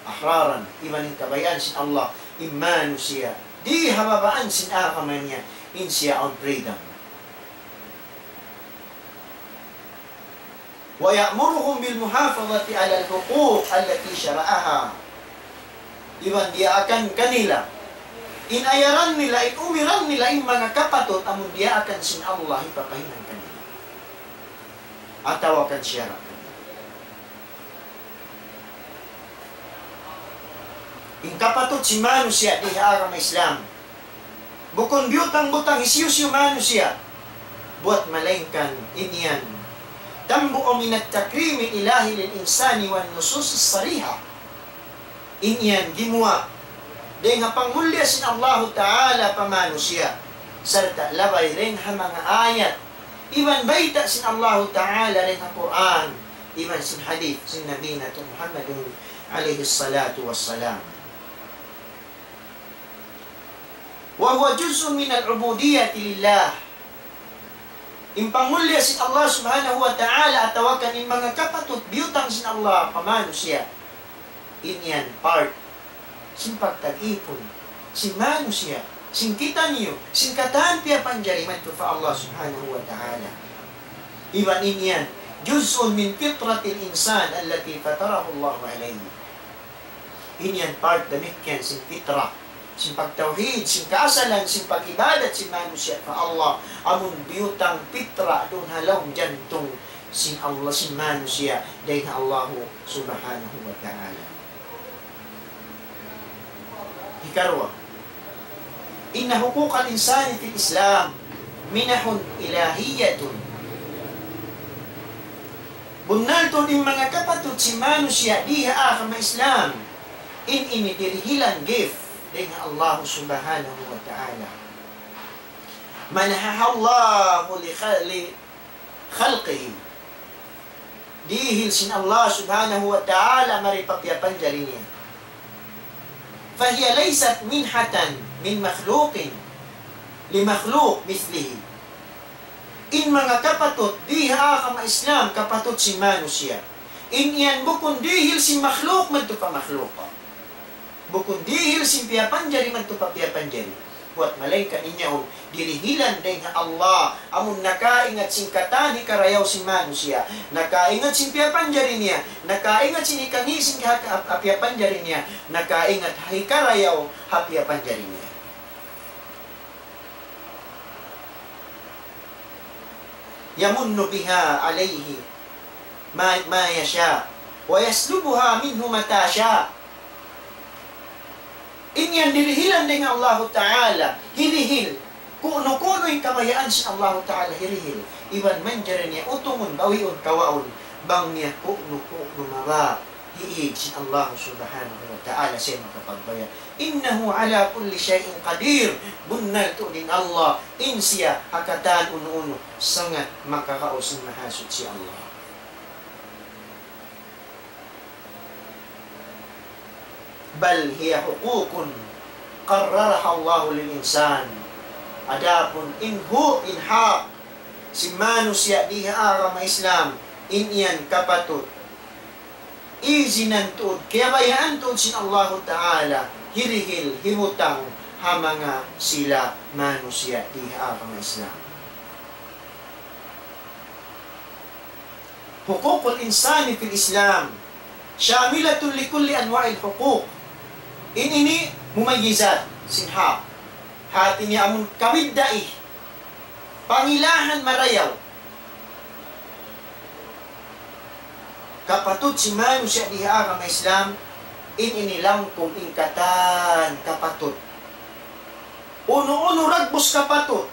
أحرارا. Iban in kabayaan sin Allah, in manusiya'. Di ha babaan sin agama niya, in siya awn freedom. ويأمرهم بالمحافظة على الحقوق التي شرعها. Iban diyaakan kanila, in ayaran nila, in umiran nila, in manga kapatut, amun diyaakan sin Allah, hipapahinang kanila. Atawa kan siyara' kanila. In kapatut sin manusiya' di ha agama Islam. Bukun biyutang-butang hisiyu-siyu manusiya'. Buwat malaingkan in yan. تنبع من التكريم الإلهي للإنسان والنصوص الصريحة. In yan gimuwa' dayn ha pangmulliya sin Allahu Ta'ala pa manusiya'. Sarta' labay dayn ha manga ayat. Iban bayta' sin Allahu Ta'ala dayn ha Qur'an. Iban sin hadith sin Nabi natu' Muhammadun alayhi salatu wassalam. وهو جزء من العبودية لله. In pangmulliya sin Allah Subhanahu wa Ta'ala atawa kan in manga kapatut biyutang sin Allah pa manusiya'. In yan part sin pagtag-ipun sin manusiya', sin kitaniyu, sin katan piyapanjari madtu pa Allah Subhanahu wa Ta'ala. Iban in yan, جزء من فطرة الإنسان التي فطره الله عليه. In yan part damikkiyan sin fitra, sin pagtawhid, sin kaasalan, sin pag-ibadat sin manusiya' pa Allah. Amun biyutang fitra duun ha lawm jantung sin Allah, sin manusiya', dayn ha Allahu Subhanahu wa Ta'ala. Hikaruwa, إن حقوق الإنسان في الإسلام منح إلهية. Bunnal tuud in manga kapatut sin manusiya' di ha agama Islam, in ini dirihilan gift dayn ha Allah Subhanahu wa Ta'ala. منحها الله لخ-، لخلقه. dihil sin Allah Subhanahu wa Ta'ala mari pa piyapanjari niya. فهي ليست منحة من مخلوق لمخلوق مثله. In manga kapatut, dii ha agama Islam, kapatut sin manusiya'. In yan bukun dihil sin makhluk madtu pa makhluk. Bukun dihil sin piyapanjari madtu pa piyapanjari. Buwat malaingkan in yaun, dirihilan dayn ha Allah, amun nakaingat sin katan hikarayaw sin manusiya', nakaingat sin piyapanjari niya, nakaingat sin hikangi' sin ha, ha, ha piyapanjari niya, nakaingat ha hikarayaw ha piyapanjari niya. يمن بها عليه ما، ما يشاء، ويسلبها منه متى شاء. In yan dirihilan dayn ha Allahu Ta'ala, hirihil. Kunu-kunu in kabayaan sin Allahu Ta'ala hirihil. Iban manjari niya utungun, bawiun, kawaun. Bang niya kunu-kunu mabaya'. Hiig sin Allah Subhanahu wa Ta'ala siya makapagbaya'. إنه على كل شيء قدير. Bunnal tuud in Allah, in siya ha katan unu-unu, sangat makakaus in Mahasuchi Allah. بل هي حقوق قررها الله للإنسان. Adapun in hu-, in hak sin manusiya' dii ha agama Islam, in yan kapatut izinan tuud, kiyabayaan tuud sin Allahu Ta'ala, hirihil, hibutang ha manga sila manusiya' dii ha agama Islam. حقوق الإنسان في الإسلام شاملة لكل أنواع الحقوق. In ini mumayyizat sin hak. Hati niya amun kabiddai, pangilahan marayaw. Kapatut sin manusiya' dii ha agama Islam, in ini langkum in katan kapatut. Unu-unu dagbus kapatut,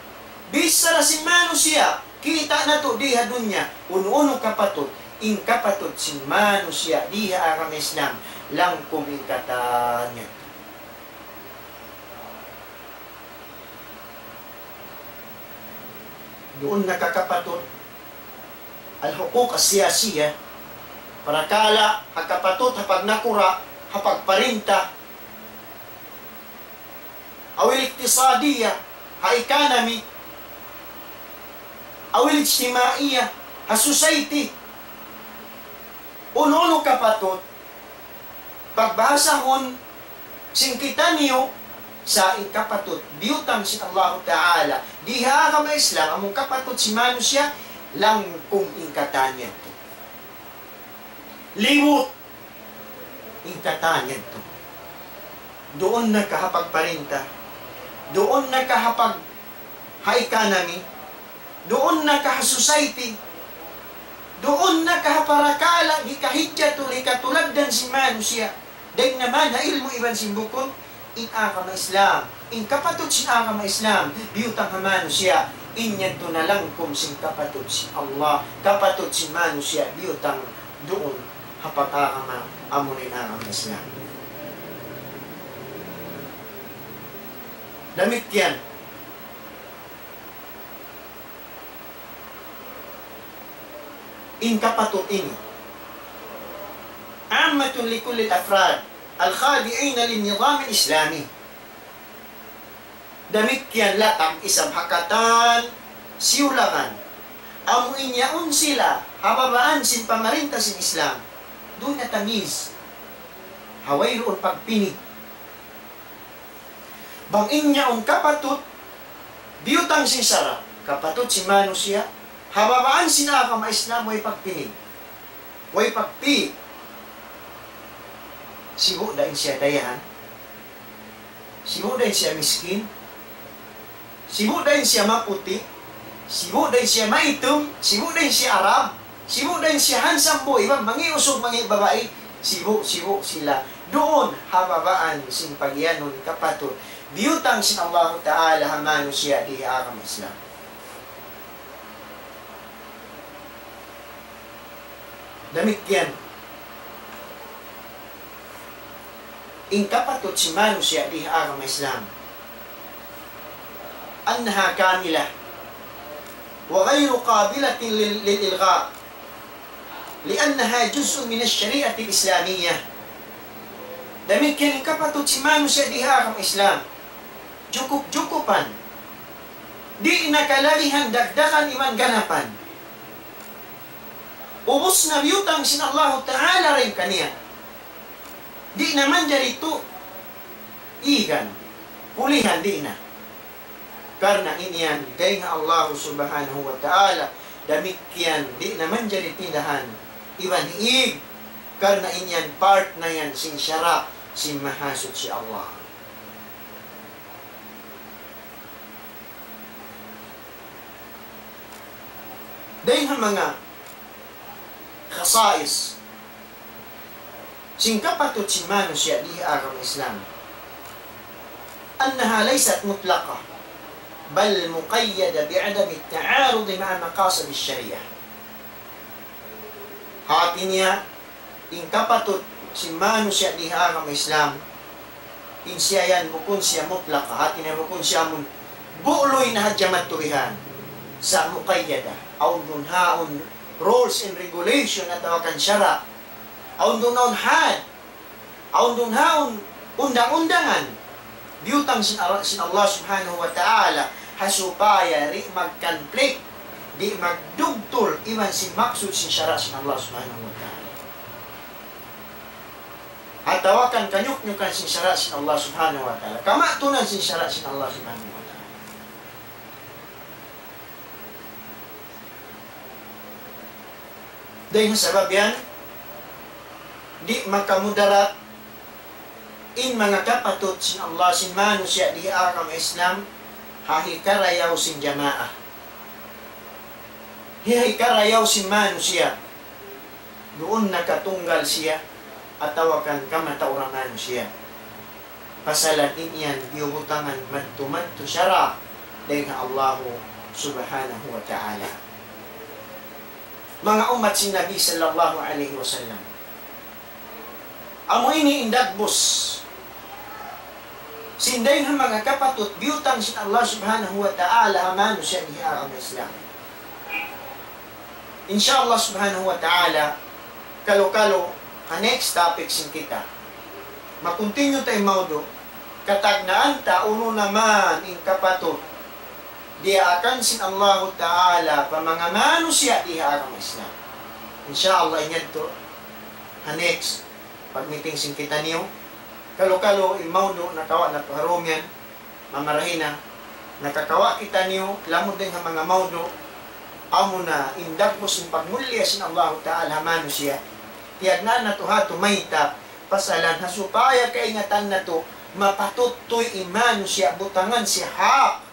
bichara sin manusiya', kita' natu' dii ha dunya, unu-unu kapatut, in kapatut sin manusiya' dii ha agama Islam, langkum in katan niya. Duun na ka kapatut, الحقوق السياسية, parakala' ha kapatut, ha pagnakura', ha pagparinta, أو الاقتصادية, ha economy, أو الاجتماعية, ha society. Unu-unu kapatut, pagbahasahun sin kitaniyu, sa' in kapatut biyutang sin Allahu Ta'ala dii ha agama Islam, amun kapatut sin manusiya', langkum in katan yadtu. Liwut in katan yadtu. Duun na ka ha pagparinta, duun na ka ha pag-, ha economy, duun na ka ha society, duun na ka ha parakala' hikahijjatul, hikatulagdan sin manusiya'. Dayn na man ha ilmu' iban sin bukun, in agama Islam, in kapatut sin agama Islam, biyutang ha manusiya', in yadtu na langkum sin kapatut sin Allah, kapatut sin manusiya', biyutang duun ha pag-agama, amuna in agama Islam. Damikkiyan, in kapatut ini, عامة لكل الأفراد الخاضعين للنظام الإسلامي. Damikkiyan latag isab ha katan siyulangan. Amu in yaun sila ha babaan sin pamarinta sin Islam. Duun na tamyiz. Ha wayruun pagpini'. Bang in yaun kapatut, biyutang sin sara', kapatut sin manusiya', ha babaan sin agama Islam way pagpini'. Way pagpi-, sibu' da in siya dayahan, sibu' da in siya miskin, sibu' da in siya maputi', sibu' da in siya maitum, sibu' da in siya Arab, sibu' da in siya handsome boy, iban mangi' usug, mangi' babai, sibu', sibu' sila. Duun ha babaan sin pagiyanun kapatut biyutang sin Allahu Ta'ala ha manusiya' di ha agama Islam. Damikkiyan in kapatut sin manusiya' di ha agama Islam, أنها كاملة وغير قابلة لل-، للإلغاء. لأنها جزء من الشريعة الإسلامية. Damikkiyan in kapatut sin manusiya' di ha agama Islam. Jukup-jukupan. Di' na kalabihan, dagdagan iban ganapan. Ubus na biyutang sin Allahu Ta'ala dayn kaniya. Di' na manjari tu' igan, pulihan, di' na. Karna' in yan dayn ha Allah Subhanahu wa Ta'ala, damikkiyan di' na manjari pindahan iban hiig, karna' in yan part na yan sin sara' sin Mahasuchi Allah. Dayn ha manga khasais sin kapatut sin manusiya' di ha agama Islam, أنها ليست مطلقة، بل مقيدة بعدم التعارض مع مقاصد الشريعة. Hati niya, in kapatut sin manusiya' di ha agama Islam, in siya yan bukun siya mutlaka, hati niya bukun siya amun bu'luy na hadja maturihan. Sa' muqayyada, awn duun haun rules and regulation atawa kan sara', awn duun haun had, awn duun haun undang-undangan. Biyutang sin Ar-, sin Allah Subhanahu wa Ta'ala, ha supaya di' mag-conflict, di' magdugtul iban sin maksud sin sara' sin Allah Subhanahu wa Ta'ala. Atawa kan kanyuknyukan sin sara' sin Allah Subhanahu wa Ta'ala, kamatunan sin sara' sin Allah Subhanahu wa Ta'ala. Dayn ha sabab yan, di' makamudarat in manga kapatut sin Allah sin manusiya' di ha agama Islam, ha hikarayaw sin jamaa. Ha hikarayaw sin manusiya'. Duun nakatunggal siya, atawa kan kamatauran manusiya'. Pasalan in yan biyubutangan madtu-madtu sara' dayn ha Allahu Subhanahu wa Ta'ala. Manga ummat sin Nabi sallallahu alayhi wasallam, amu ini in dagbus sin dayn ha manga kapatut biyutang sin Allah Subhanahu wa Ta'ala ha manusiya' di ha agama Islam. In sha Allah Subhanahu wa Ta'ala, kalu-kalu, ha next topic sin kita, ma-continue ta in mawdu', katagnaan ta unu na man in kapatut diyaakan sin Allahu Ta'ala pa manga manusiya' di ha agama Islam. In sha Allah, in yadtu, ha next pag-meeting sin kitaniyu, kalu-kalu in mawdu' nakawa' natu' ha dum yan, mamarahi na, nakakawa' kitaniyu lamud dayn ha manga mawdu', amuna in dagbus sin pagmulliya sin Allahu Ta'ala ha manusiya'. Tiyagnaan natu' hatu mayta', pasalan ha supaya kaingatan natu', mapatut tuud in manusiya' butangan siya hak,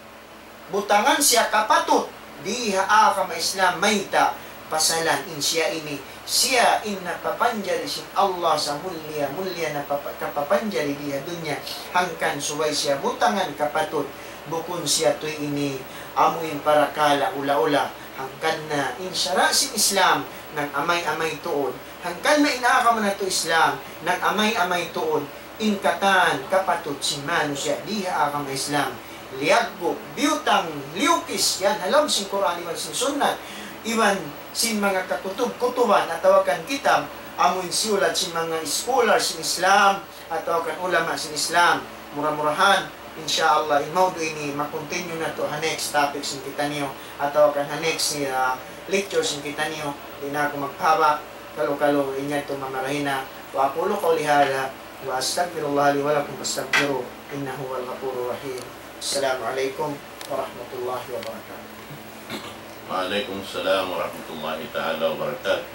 butangan siya kapatut di ha agama Islam mayta', pasalan in siya ini, siya in napapanjari sin Allah sa mulliya-mulliya na papa-, kapapanjari di ha dunya, hangkan subay siya butangan kapatut, bukun siya tuud ini amu in parakala' ula-ula, hangkan na in sara' sin Islam nag-amay-amay tuud, hangkan na in agama natu' Islam nag-amay-amay tuud, in katan kapatut sin manusiya' di ha agama Islam, liyaggu', biyutang, liyukis yan ha lawm sin Qur'an iban sin Sunnat, iban sin manga kakutub-kutuban atawa kan kitab, amu in siyulat sin manga scholar sin Islam atawa kan ulama sin Islam. Mura-murahan, in sha Allah, in mawdu' ini ma-continue natu' ha next topic sin kitaniyu atawa kan ha next, ah, lecture sin kitaniyu. Di' na aku magpahaba', kalu-kalu in yadtu mamarahi na. وأقول قولي هذا وأستغفر الله لي ولكم فاستغفروه إنه هو الغفور الرحيم. السلام عليكم ورحمة الله وبركاته. وعليكم السلام ورحمة الله تعالى وبركاته.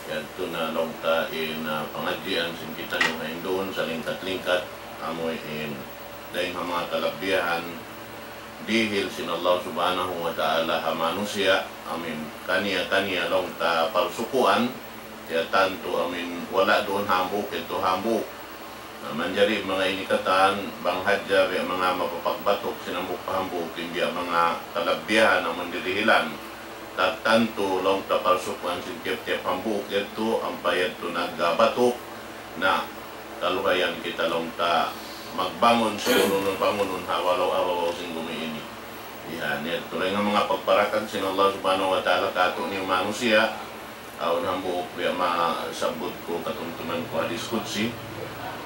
Yadtu na laung ta in, ah, pangadjian sin kitaniyu ha induun, salingkat-lingkat, amu in dayn ha manga kalabihan dihil sin Allah Subhanahu wa Ta'ala ha manusiya', amu in kaniya-kaniya laung ta parsukuan, ya tantu amu in wala' duun hambuuk, yadtu hambuuk. Na, manjari manga ini katan, bang hadja biya' manga mapapagbatuk sin hambuuk pa hambuuk, in biya' manga kalabihan amu in dihilan. Tantu laung ta parsukuan sin tiyap-tiyap hambuuk yadtu, ampa yadtu nagbatuk, na kaluhayan kita laung ta magbangun sin unu-unu bangunun ha babaw, ha babaw sin bumi ini. Yan, yadtu laung in manga pagparakan sin Allah Subhanahu wa Ta'ala kātu'niyu manusiya', Awn hambuuk biya' masabbut ku katumtuman ku hadis qudsi.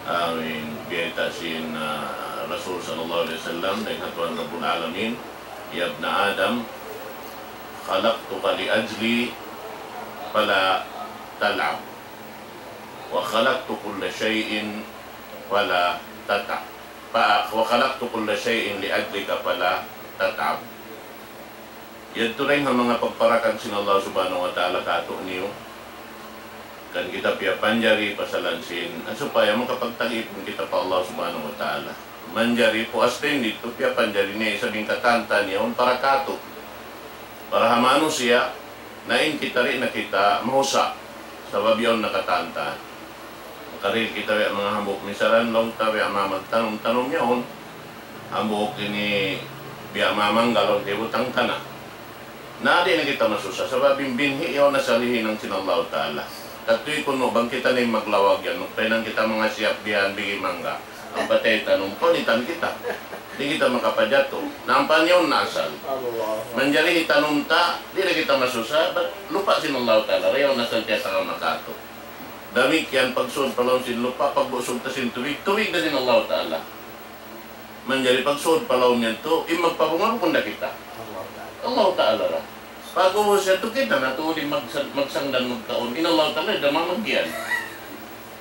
Amin, biyayta' sin, ah, Rasul sallallahu alayhi wasallam, dayn ha Tuhan Rabbul Alamin, يا ابن آدم خلقتك لأجلي فلا تلعب، وخلقت كل شيء فلا تتعب، ف-، وخلقت كل شيء لأجلك فلا تتعب. Yadtu dayn ha manga pagparakan sin Allah Subhanahu wa Ta'ala kātu'niyu. Kan kita piyapanjari pasalan sin, ah, supaya makapagtag-ipun kita pa Allah Subhanahu wa Ta'ala. Manjari puas dayn didtu piyapanjari niya isab in katan-katan yaun para kātu'. Para ha manusiya', na in kita di' na kita mahusa'. Sabab yaun na katan-katan. Makarihil kita biya' manga hambuuk misalan laung ta biya' manga magtanum-tanum yaun. Hambuuk ini biya' manga mangga laung ta hibutang tana'. Na di' na kita masusa, sabab in binhi' yaun asal hihinang sin Allahu Ta'ala. Katu' kunu' bang kita na in maglawag yan, magpahinang kita manga siyap bihan bigi mangga. Ampa ta itanum, punitan kita. Di' kita makapajatu. Na ampa yaun na asal. Allah. Manjari hitanum ta, di' na kita masusa, bat lupa' sin Allahu Ta'ala, yaun na asal kiyatagama kātu'. Damikkiyan pagsud pa lawm sin lupa', pagbusug ta sin tubig, tubig da sin Allahu Ta'ala. Manjari pagsud pa lawm yadtu, in magpabunga bukun da kita. Allah Ta'ala. Allah Ta'ala ra. Pag-ubus yadtu kita na tuud in magsang-, magsangdan magkaun. In Allah Ta'ala da mamagyan.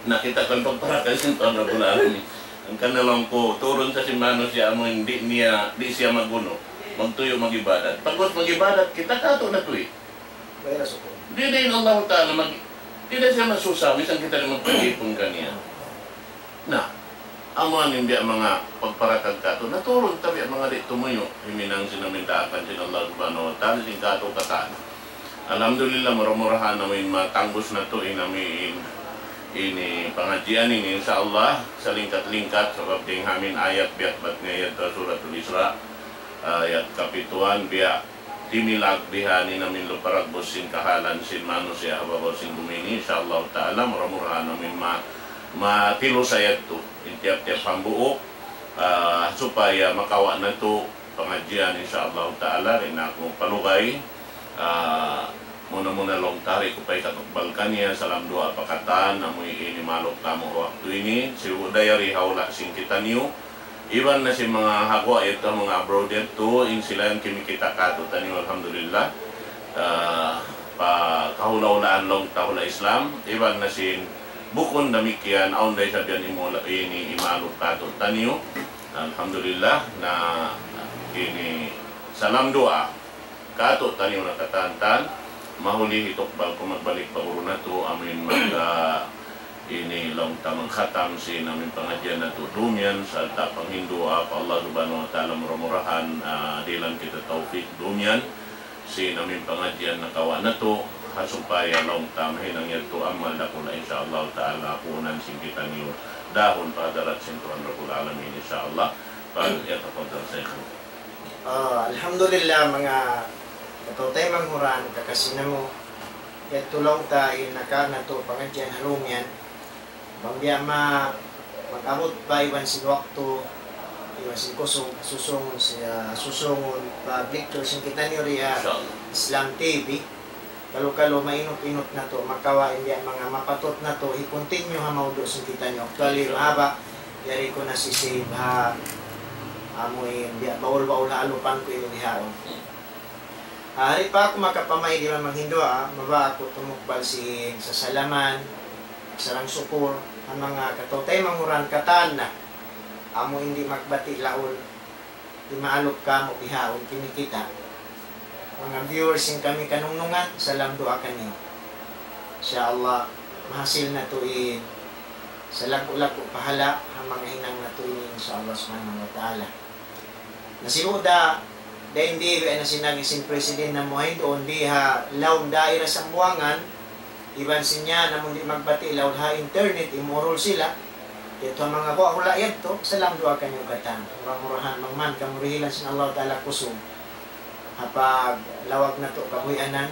Na kita kan pagparakan sin Tuhan Rabbul Alamin. Hangkan na laung ku, turun sa sin manusiya' amu in di' niya, di' siya magunu. Magtuyu' mag-ibadat. Pag-ubus mag-ibadat, kita kātu' na tuwi'. Bayra sukul. Di' da in Allah Ta'ala mag-, di' da siya masusa, misan kita di' magpag-ipun kaniya. Na, amu ini in biya' manga pagparakag kātu'. Naturun ta biya' manga di' tumuyu'. Himinang sin amin daakan sin Allah Subhanahu wa Ta'ala, sin kātu' katan. Alhamdulillah, mura-murahan amin matangbus natu' in amin ini pangadjian ini, insya Allah, salingkat-lingkat, sabab dayn ha amin ayat biya' bat niya ayat Suratul Isra, ayat kapituan, biya' timilag bihan in amin luparagbus sin kahalan sin manusiya' ha babaw sin bumi ini, insya Allah Ta'ala, mura-murahan amin ma-, matilusa yadtu in tiyap-tiyap hambuuk, ah, supaya makawa' natu' pangadjian, insya Allah Ta'ala, di' na aku palugay. Ah, muna-muna laung ta di' ku pa hikatukbal kaniya, salam duwaa pa katan, amu ini maluk kamu waktu ini, sibu' da yari ha hula' sin kitaniyu, iban na sin manga ha guwa' yadtu, manga abroad yadtu, in sila yan kimikita' kātu'niyu, alhamdulillah. Ah, pa kahula'-hulaan laung ta hula' Islam, iban na sin bukun damikkiyan, awn da isab yan imula-, ini imaluk kātu'niyu. Alhamdulillah, na ini salam duwaa kātu'niyu na katan-katan, mahuli hitukbal ku magbalik pa guru natu', amin mag-, ah, ini laung ta magkhatam sin amin pangadjian natu' dum yan, sarta' panghindu' pa Allah Subhanahu wa Ta'ala, mura-murahan, ah, dihilan kita tawfik dum yan, sin amin pangadjian nakawa' natu', ha supaya laung ta mahinang yadtu amal dakula', insya Allah Ta'ala, puunan sin kitaniyu dahun pa hadarat sin Tuhan Rabbul Alamin, insya Allah. Fal yatafaddal Shaykh. Ah, alhamdulillah, manga kataw-taymanghuran, kakasi namu'. Yadtu laung ta in nakawa' natu' pangadjian ha dum yan. Bang biya' ma-, mag-abut pa iban sin waktu, iban sin kusug, susungun siya, susungun pa lecture sin kitaniyu di ha Insya Allah. Islam T V. Kalu-kalu mainut-inut natu', makawa' in biya' manga mapatut natu' hi-continue ha mawdu' sin kitaniyu. Actually, mahaba', yari ku na sisib ha amu in biya' baul-baul ha alupan ku ini bihaun. Ah, di' pa aku makapamaid iban manghindu', ah, mabaya' aku tumukbal sin sasalaman, sarang sukur, ha manga kataw-taymanghuran katan na. Amu in di' magbati' laul, di' maalup kamu' bihaun, kimikita'. Manga viewers sin kami kanungnungan, salam duwaa kaniyu. Insya Allah, mahasil natu' in salaggu'-laggu' pahala', ha manga hinang natu' ini, insya Allah Subhanahu wa Ta'ala. Na sibu' da, dayn di, biya' na sin agi sin president namu' ha duun di ha lawm daira Sambuwangan, iban sin yan, amun di' magbati' laung ha internet, imurul sila, yadtu ha manga hula'-hula' yadtu, salam duwaa kaniyu katan. Mura-murahan, bang man kamu dihilan sin Allah Ta'ala kusug ha paglawag natu' kabuhianan,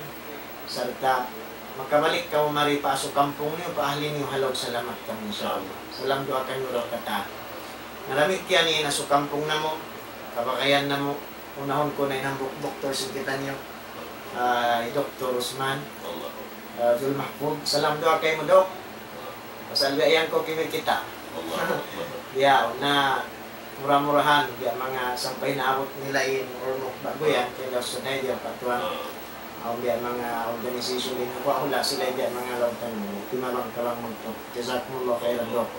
sarta' makabalik kamu mari pa asu kampung niyu, pa ahli niyu ha lawm salamat kamu, insya Allah. Salam duwaa kaniyu da katan. Na damikkiyan in asu kampung namu', kabagayan namu', unahun ku na in hambuuk doktor sin kitaniyu, ah, hi Doktor Usman. Allah. Ah, Abdul Mahfud, salam duwaa kaymu, Dok. Pasal biya' yan kaw kimita'. Biya' na, mura-murahan, biya' manga sampay naabut nila in ulmuk ba'gu yan, kaya daw sunay diya pa tuwan. Awn biya' manga organisasyon in hula'-hula' sila biya' manga laung ta timabang-tabang magtu. Jazakumullahu khairan, Dok.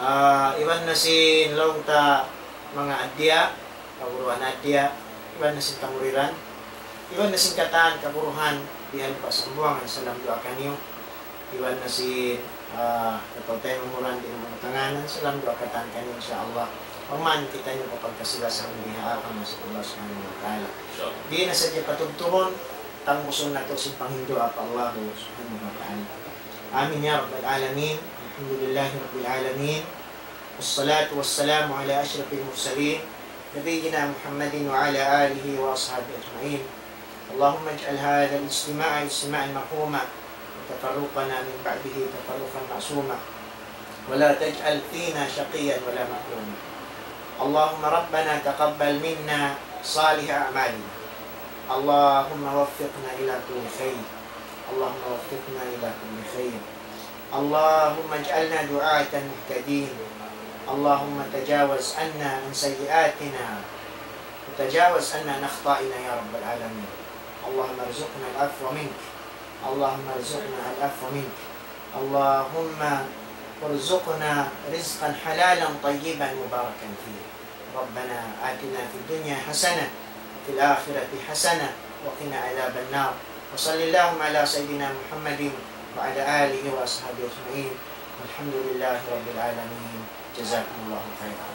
Ah, iban na sin laung ta manga addiya, kaguruhan addiya, iban na sin kamuriran, iban na sin katan kaguruhan, bihan pa sambuangan, salam duwaa kaniyu, iban na sin, ah, kataw-taymanghuran di' mamutanganan, salam duwaa katan kaniyu, insya Allah. Pagman kitaniyu kapagkasi-lasa biha' ha Allah Subhanahu wa Ta'ala. Di' na sadja patubtubun, tangbusun natu' sin panghindu' pa Allah Subhanahu wa Ta'ala. Amin ya Rabbal Alamin. Alhamdulillahi Rabbil Alamin. والصلاة والسلام على أشرف المرسلين نبينا محمد وعلى آله وأصحابه أجمعين. اللهم اجعل هذا الاجتماع اجتماعا مرحوما وتفرقنا من بعده تفرقا معصوما ولا تجعل فينا شقيا ولا محروما. اللهم ربنا تقبل منا صالح أعمالنا. اللهم وفقنا إلى كل خير. اللهم وفقنا إلى كل خير. اللهم اجعلنا دعاة مهتدين. اللهم تجاوز عنا عن سيئاتنا وتجاوز عنا عن أخطائنا يا رب العالمين. اللهم ارزقنا العفو منك. اللهم ارزقنا العفو منك. اللهم ارزقنا رزقا حلالا طيبا مباركا فيه. ربنا آتنا في الدنيا حسنة وفي الآخرة حسنة وقنا عذاب النار. وصل اللهم على سيدنا محمد وعلى آله وأصحابه أجمعين. والحمد لله رب العالمين. جزاكم الله خيرا.